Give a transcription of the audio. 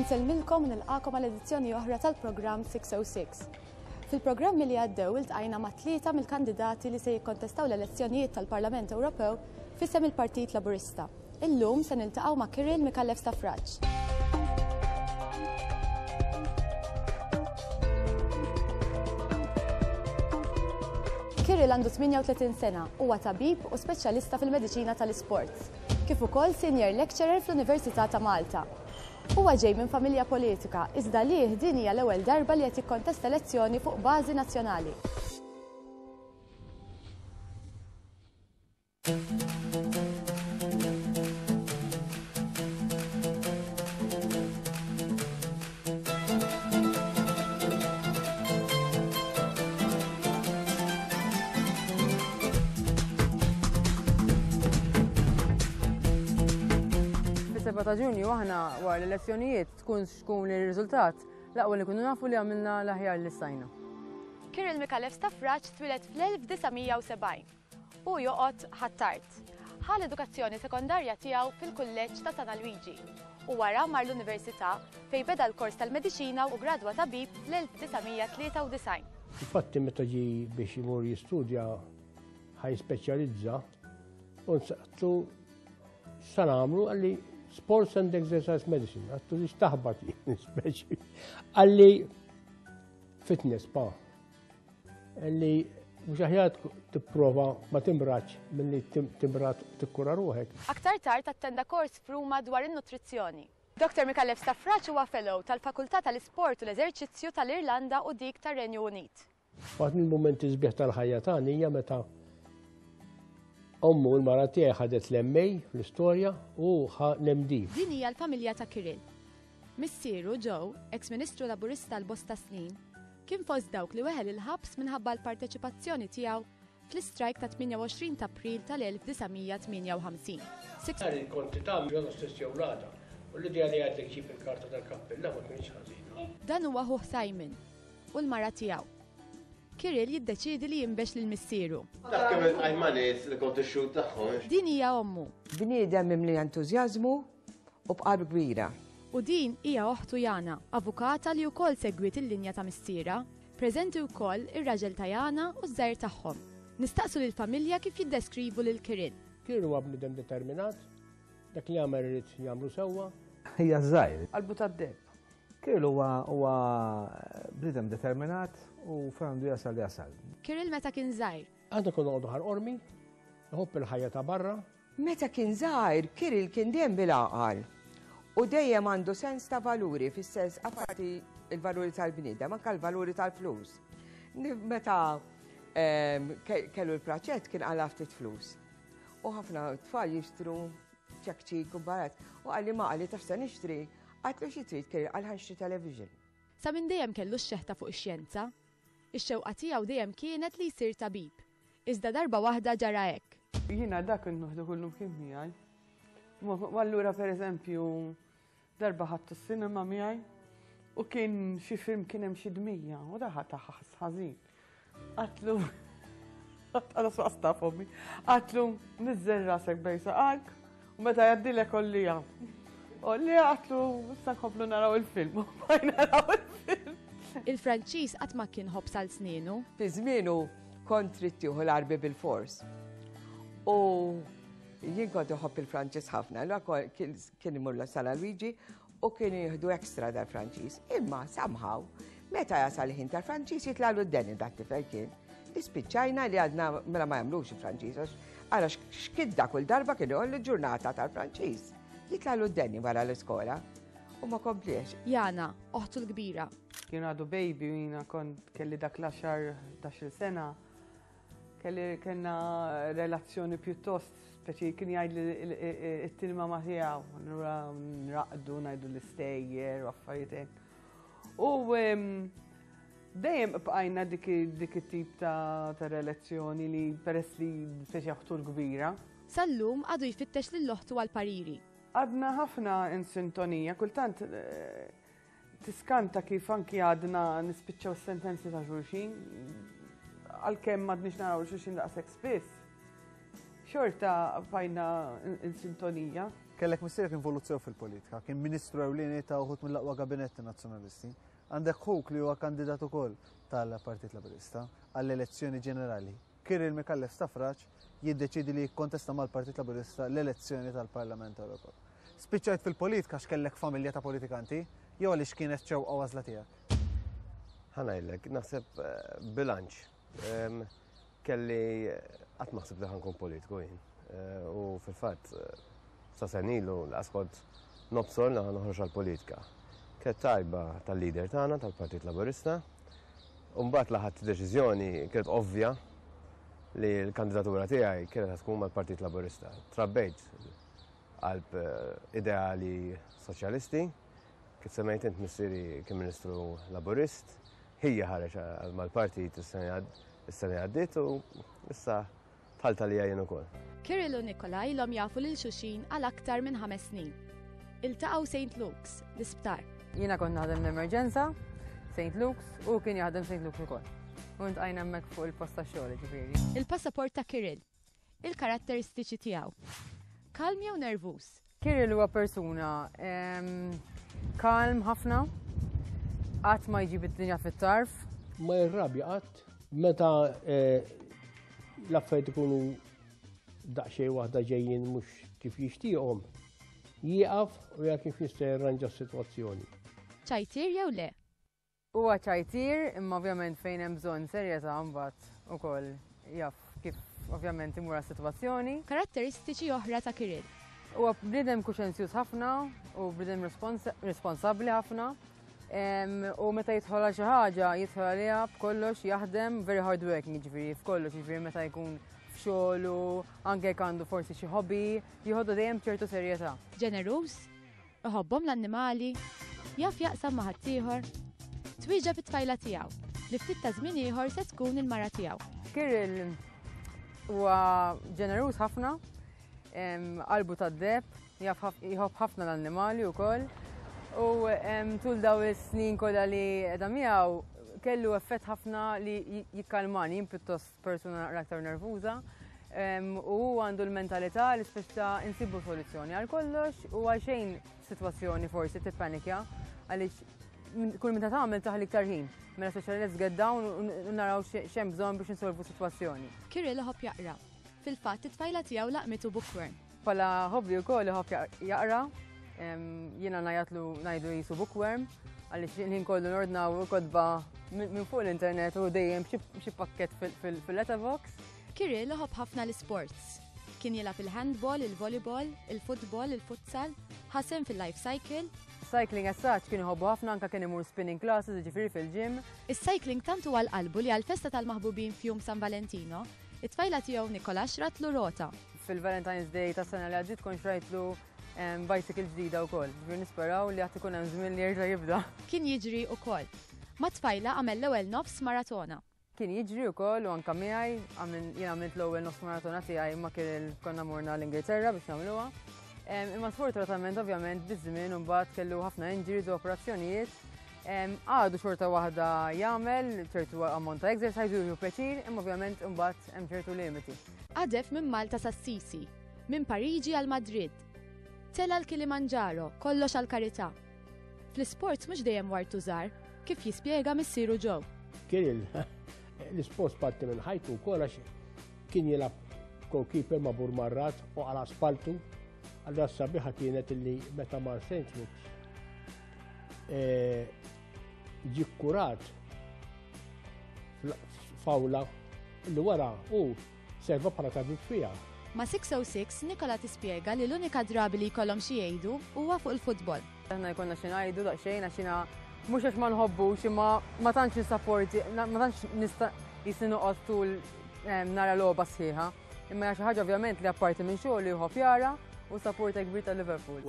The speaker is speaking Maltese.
Insellmilkom u nilqakom għal edizzjoni oħra tal-programm 606. Fil-programmi li għaddew iltqajna ma' tlieta mill-kandidati li se jikkontestaw l-elezzjonijiet tal-Parlament Ewropew f'isem il-Partit Laburista. Illum se niltaqgħu ma' Kirill Micallef Stafrace. Kirill għandu 38 sena, huwa tabib u speċjalista fil-mediċina tal-isports, kif ukoll senior lecturer fl-Università ta' Malta. Huwa ġej minn familja politika, iżda għalih din hija l-ewwel darba li qed jikkontesta elezzjoni fuq bażi nazzjonali. Fis-7 ta' Ġunju aħna wara l-elezzjonijiet tkun x'tkun ir-riżultat, l-aqwa li nkunu nafu li għamilna l-aħjar li stajna. Kirill Micallef Stafrace twieled fl-1970. Hu joqgħod Ħ'Attard. Ħa l-edukazzjoni sekondarja tiegħu fil-Kulleġġ ta' San Alwiġi u wara mar l-Università fejn beda l-kors tal-Mediċina u ggradwa tabib fl-1993. Infatti meta ġie biex imur jistudja ħa jispeċjalizza u nsaqtu x'sa nagħmlu qalli Sports and Exercise Medicine, għattu li x'taħbat jien speċi. Qalli fitness pa. Li mhux aħjar tipprova ma timradx milli timrad tikkura ruħek. Aktar tard attenda kors f'Ruma dwar in-nutrizzjoni. Dottor Micallef Stafrace huwa Fellow tal-Fakultà tal-Isport u l-Eżerċizzju tal-Irlanda u dik tar-Renju Unit. Waħda mill-mumenti sbieħ tal-ħajja tagħna hija meta ommu l-mara tiegħi ħadet l-MA fl-istorja u ħa l-MD. Din hija l-familja ta' Kirill. Missieru, Joe, eks Ministru Laburista għal bosta snin, kien fost dawk li weħel il-ħabs minħabba l-parteċipazzjoni tiegħu fl-istrajk tat-28 t'April tal-1958. Nhar il-konti tagħmel l-għada stess jew l-għada. U l-idea li għedlek ġib il-karta tal-kappilla ma kinitx ħażina. Dan huwa ħuh Simon u l-mara tiegħu. Kirill jiddeċiedi li jinbex lil missieru. Taf kemm iltqajt ma' nies li kont ix-xhud tagħhom. Din hija ommu. Bniedem mimli entużjażmu u b'qalb kbira. U din hija oħtu Jana, avukata li wkoll segwiet il-linja ta' missierha. Preżenti wkoll ir-raġel ta' Jana u ż-żgħir tagħhom. Nistaqsu lill-familja kif jiddeskrivu lil Kirill. Kirill huwa bniedem determinat, dak li jagħmel irid jagħmlu sewwa. Hija żgħir. Qalbu tad-deheb. Kirill huwa huwa bniedem determinat u fejn għandu jasal jasal. Kirill meta kien żgħir. Aħna konna noqogħdu Ħal Qormi, iħobb il-ħajja ta' barra. Meta kien żgħir, Kirill kien dejjem bil-għaqal u dejjem għandu sens ta' valuri, fis-sens apparti l-valuri tal-bniedem, anke l-valuri tal-flus. Meta ehm, kellu l-praċett kien qala ftit flus. U ħafna tfal jixtru ċekċik u barat. U qalli ma qalli taf se nixtri, għatlu xi trid Kirill qal ħanxtri television. Sa minn dejjem kellu x-xeħta fuq ix-xjenza. Ix-xewqa tiegħu dejjem kienet li jsir tabib. Iżda darba waħda ġara hekk. Jiena dak kont noħdu kullum kien miegħi. U allura pereżempju darba ħadtu s-sinema miegħi u kien xi film kien hemm xi dmija u daħa ta' ħażin. Għatlu għada swaqs taf ommi. Għatlu nizzel rasek bej saqajk u meta jgħaddilek ollija. Ollija għatlu issa nkomplu naraw il-film. U bajna naraw il-film. Il-Franċiż qatt ma kien ħobż għal snienu. Fi żmienu kont trid tieħu l-Għarbi bilfors. U jien kont iħobb il-Franċiż ħafna, allura kien imur la Sala Luigi u kien jieħdu extra dal-Franċiż. Imma somehow, meta jasal ħin tal-Franċiż jitlagħlu d-deni dat-tifel kien. Ispiċċajna li għadna mela ma jagħmlux il-Franċiż għax ara x'kidda kull darba kien ikollu ġurnata tal-Franċiż. Jitlagħlu d-deni wara l-iskola u ma kompliex. Jana, oħtu l-kbira. Kien għadu baby u jiena kont kelli dak l-għaxar 11-il sena. Kelli kellna relazzjoni pjuttost speċi kien jgħidli it-tilma ma tiegħu, allura nraqdu ngħidu l-istejjer u affarijiet hekk. U dejjem bqajna dik it-tip ta' relazzjoni li peress li speċi oħtu l-kbira. Sal-lum għadu jfittex lil oħtu għall-pariri. Għadna ħafna in sintonija, kultant tiskanta kif anki għadna nispiċċaw sentenzi ta' xulxin. Għalkemm m'għadniex naraw xulxin daqshekk spiss, xorta bqajna in sintonija. Kellek missierek involut sew fil-politika, kien ministru ewlieni ta' uħud mill-aqwa gabinetti nazzjonalisti. Għandek ħuk li huwa kandidat ukoll tal-Partit Laburista għall-elezzjoni ġenerali. Kirill Micallef Stafrace jiddeċiedi li jikkontesta mal-Partit Laburista l-elezzjoni tal-Parlament Ewropew. Spiċċajt fil-politika għax kellek familja ta' politikanti jew għaliex kienet xewqa u għażla tiegħek? Ħa ngħidlek, naħseb bilanċ. Kelli qatt ma ħsibt li ħa nkun politiku jien. U fil-fatt sa sena ilu laqas kont nobsor li ħa noħroġ għall-politika. Kienet tajba tal-leader tagħna tal-Partit Laburista. U mbagħad la ħadt deċiżjoni kienet ovvja li l-kandidatura tiegħi kienet tkun mal-Partit Laburista. Trabbejt qalb ideali soċjalisti, kif semmejt int missieri kien Ministru Laburist, ħija ħareġ mal-partit is-sena li għaddiet u issa dħalt għalija jien ukoll. Kirill u Nikola ilhom jafu lil xulxin għal aktar minn ħames snin. Iltaqgħu St. Luke's, l-isptar. Jiena kont naħdem l-emerġenza, St. Luke's, u kien jaħdem St. Luke's ukoll. U ntqajna hemmhekk fuq il-post tax-xogħol, ġifieri. Il-passaport ta' Kirill. Il-karatteristiċi tiegħu. Kalm jew nervuż? Kirill huwa persuna kalm ħafna, qatt ma jġib id-dinja fit-tarf. Ma jirrabja qatt meta l-affarijiet ikunu daqsxejn waħda ġejjin mhux kif jixtieqhom, jieqaf u jara kif jista' jirranġa s-sitwazzjoni. Ċajtier jew le? Huwa ċajtier, imma ovvjament fejn hemm bżonn serjetà mbagħad ukoll jaf kif ovvjament imur għas-sitwazzjoni. Karatteristiċi oħra ta' Kirill. Huwa bniedem kuxenzjuż ħafna u bniedem responsabbli ħafna. U meta jidħol għal xi ħaġa, jidħol għaliha b'kollox, jaħdem very hard working, jiġifieri f'kollox, jiġifieri meta jkun f'xogħlu, anke jekk għandu forsi xi hobby, jieħodha dejjem b'ċertu serjetà. Ġeneruż, iħobbhom l-annimali, jaf jaqsam ma' ħaddieħor, twieġeb it-tfajla tiegħu li ftit ta' żmien ieħor se tkun il-mara tiegħu. Kirill huwa ġeneruż ħafna, qalbu tad-deheb, jħobb ħafna l-annimali wkoll. U tul daw is-snin kollha li qiegħda miegħu kellu effett ħafna li jikkalmani, jien pjuttost persuna naqra aktar nervuża. U hu għandu l-mentalità li spiċċa insibu soluzzjoni għal kollox u għal xejn sitwazzjoni forsi tippanikja għaliex kull meta tagħmel taħli iktar ħin. Mela speċjali let's get down u naraw x'hemm bżonn biex insolvu sitwazzjoni. Kirill iħobb jaqra. Fil-fatt it-tfajla tiegħu laqmitu bookworm. Bħala hobby wkoll iħobb jaqra. Jiena ngħajatlu ngħidu jisu bookworm għaliex il-ħin kollu nordnaw kotba minn fuq l-internet u dejjem xi pakket fil-letterbox. Kirill iħobb ħafna l-isports. Kien jilgħab il-handball, il-volleyball, il-football, il-futsal, ħasem fil-life cycle. Cycling as such kien iħobbu ħafna, anka kien imur spinning classes, jiġifieri fil-gym. Is-cycling tant huwa l-qalbu li għall-festa tal-maħbubin f'jum San Valentino, it-tfajla tiegħu Nikola xratlu rota. Fil-Valentine's Day tas-sena li għaddiet kont xrajtlu bicycle ġdida wkoll. Ġifieri nisperaw li għad ikun hemm żmien li jerġa' jibda. Kien jiġri wkoll. Ma' tfajla għamel l-ewwel nofs maratona. Kien jiġri wkoll u anka miegħi, jien għamilt l-ewwel nofs maratona tiegħi ma kien konna morna l-Ingilterra biex nagħmluha. Imma sfortunatament ovvjament biż-żmien imbagħad kellu ħafna injuries u operazzjonijiet. Għadu xorta waħda jagħmel ċertu ammont ta' exercise u jieħu pjaċir, imma ovvjament imbagħad hemm ċertu limiti. Qadef minn Malta s'Assisi, minn Pariġi għal Madrid. Tela l-Kilimanġaro, kollox għal karità. Fl-isports mhux dejjem wartu żgħar, kif jispjega missieru Joe. Kirill, l-isports parti minn ħajtu wkoll għax kien jilgħab goalkeeper ma' Burmarrad u għal asfaltu. Allura s-sabiħa kienet illi meta mar St. Luke's ġie kkurat f'awla li wara hu serva bħala tabib fiha. Ma' 606 Nikola tispjega li l-unika drabi li jkollhom xi jgħidu huwa fuq il-futbol. Aħna jkollna xi ngħidu daqsxejn għax jiena mhux għax ma nħobbux imma ma tantx nissapporti, ma tantx nista' jisni noqgħod tul nara logħba sħiħa. Imma hija xi ħaġa ovvjament li apparti minn xogħol li jħobb jara u supporter kbir ta' Liverpool.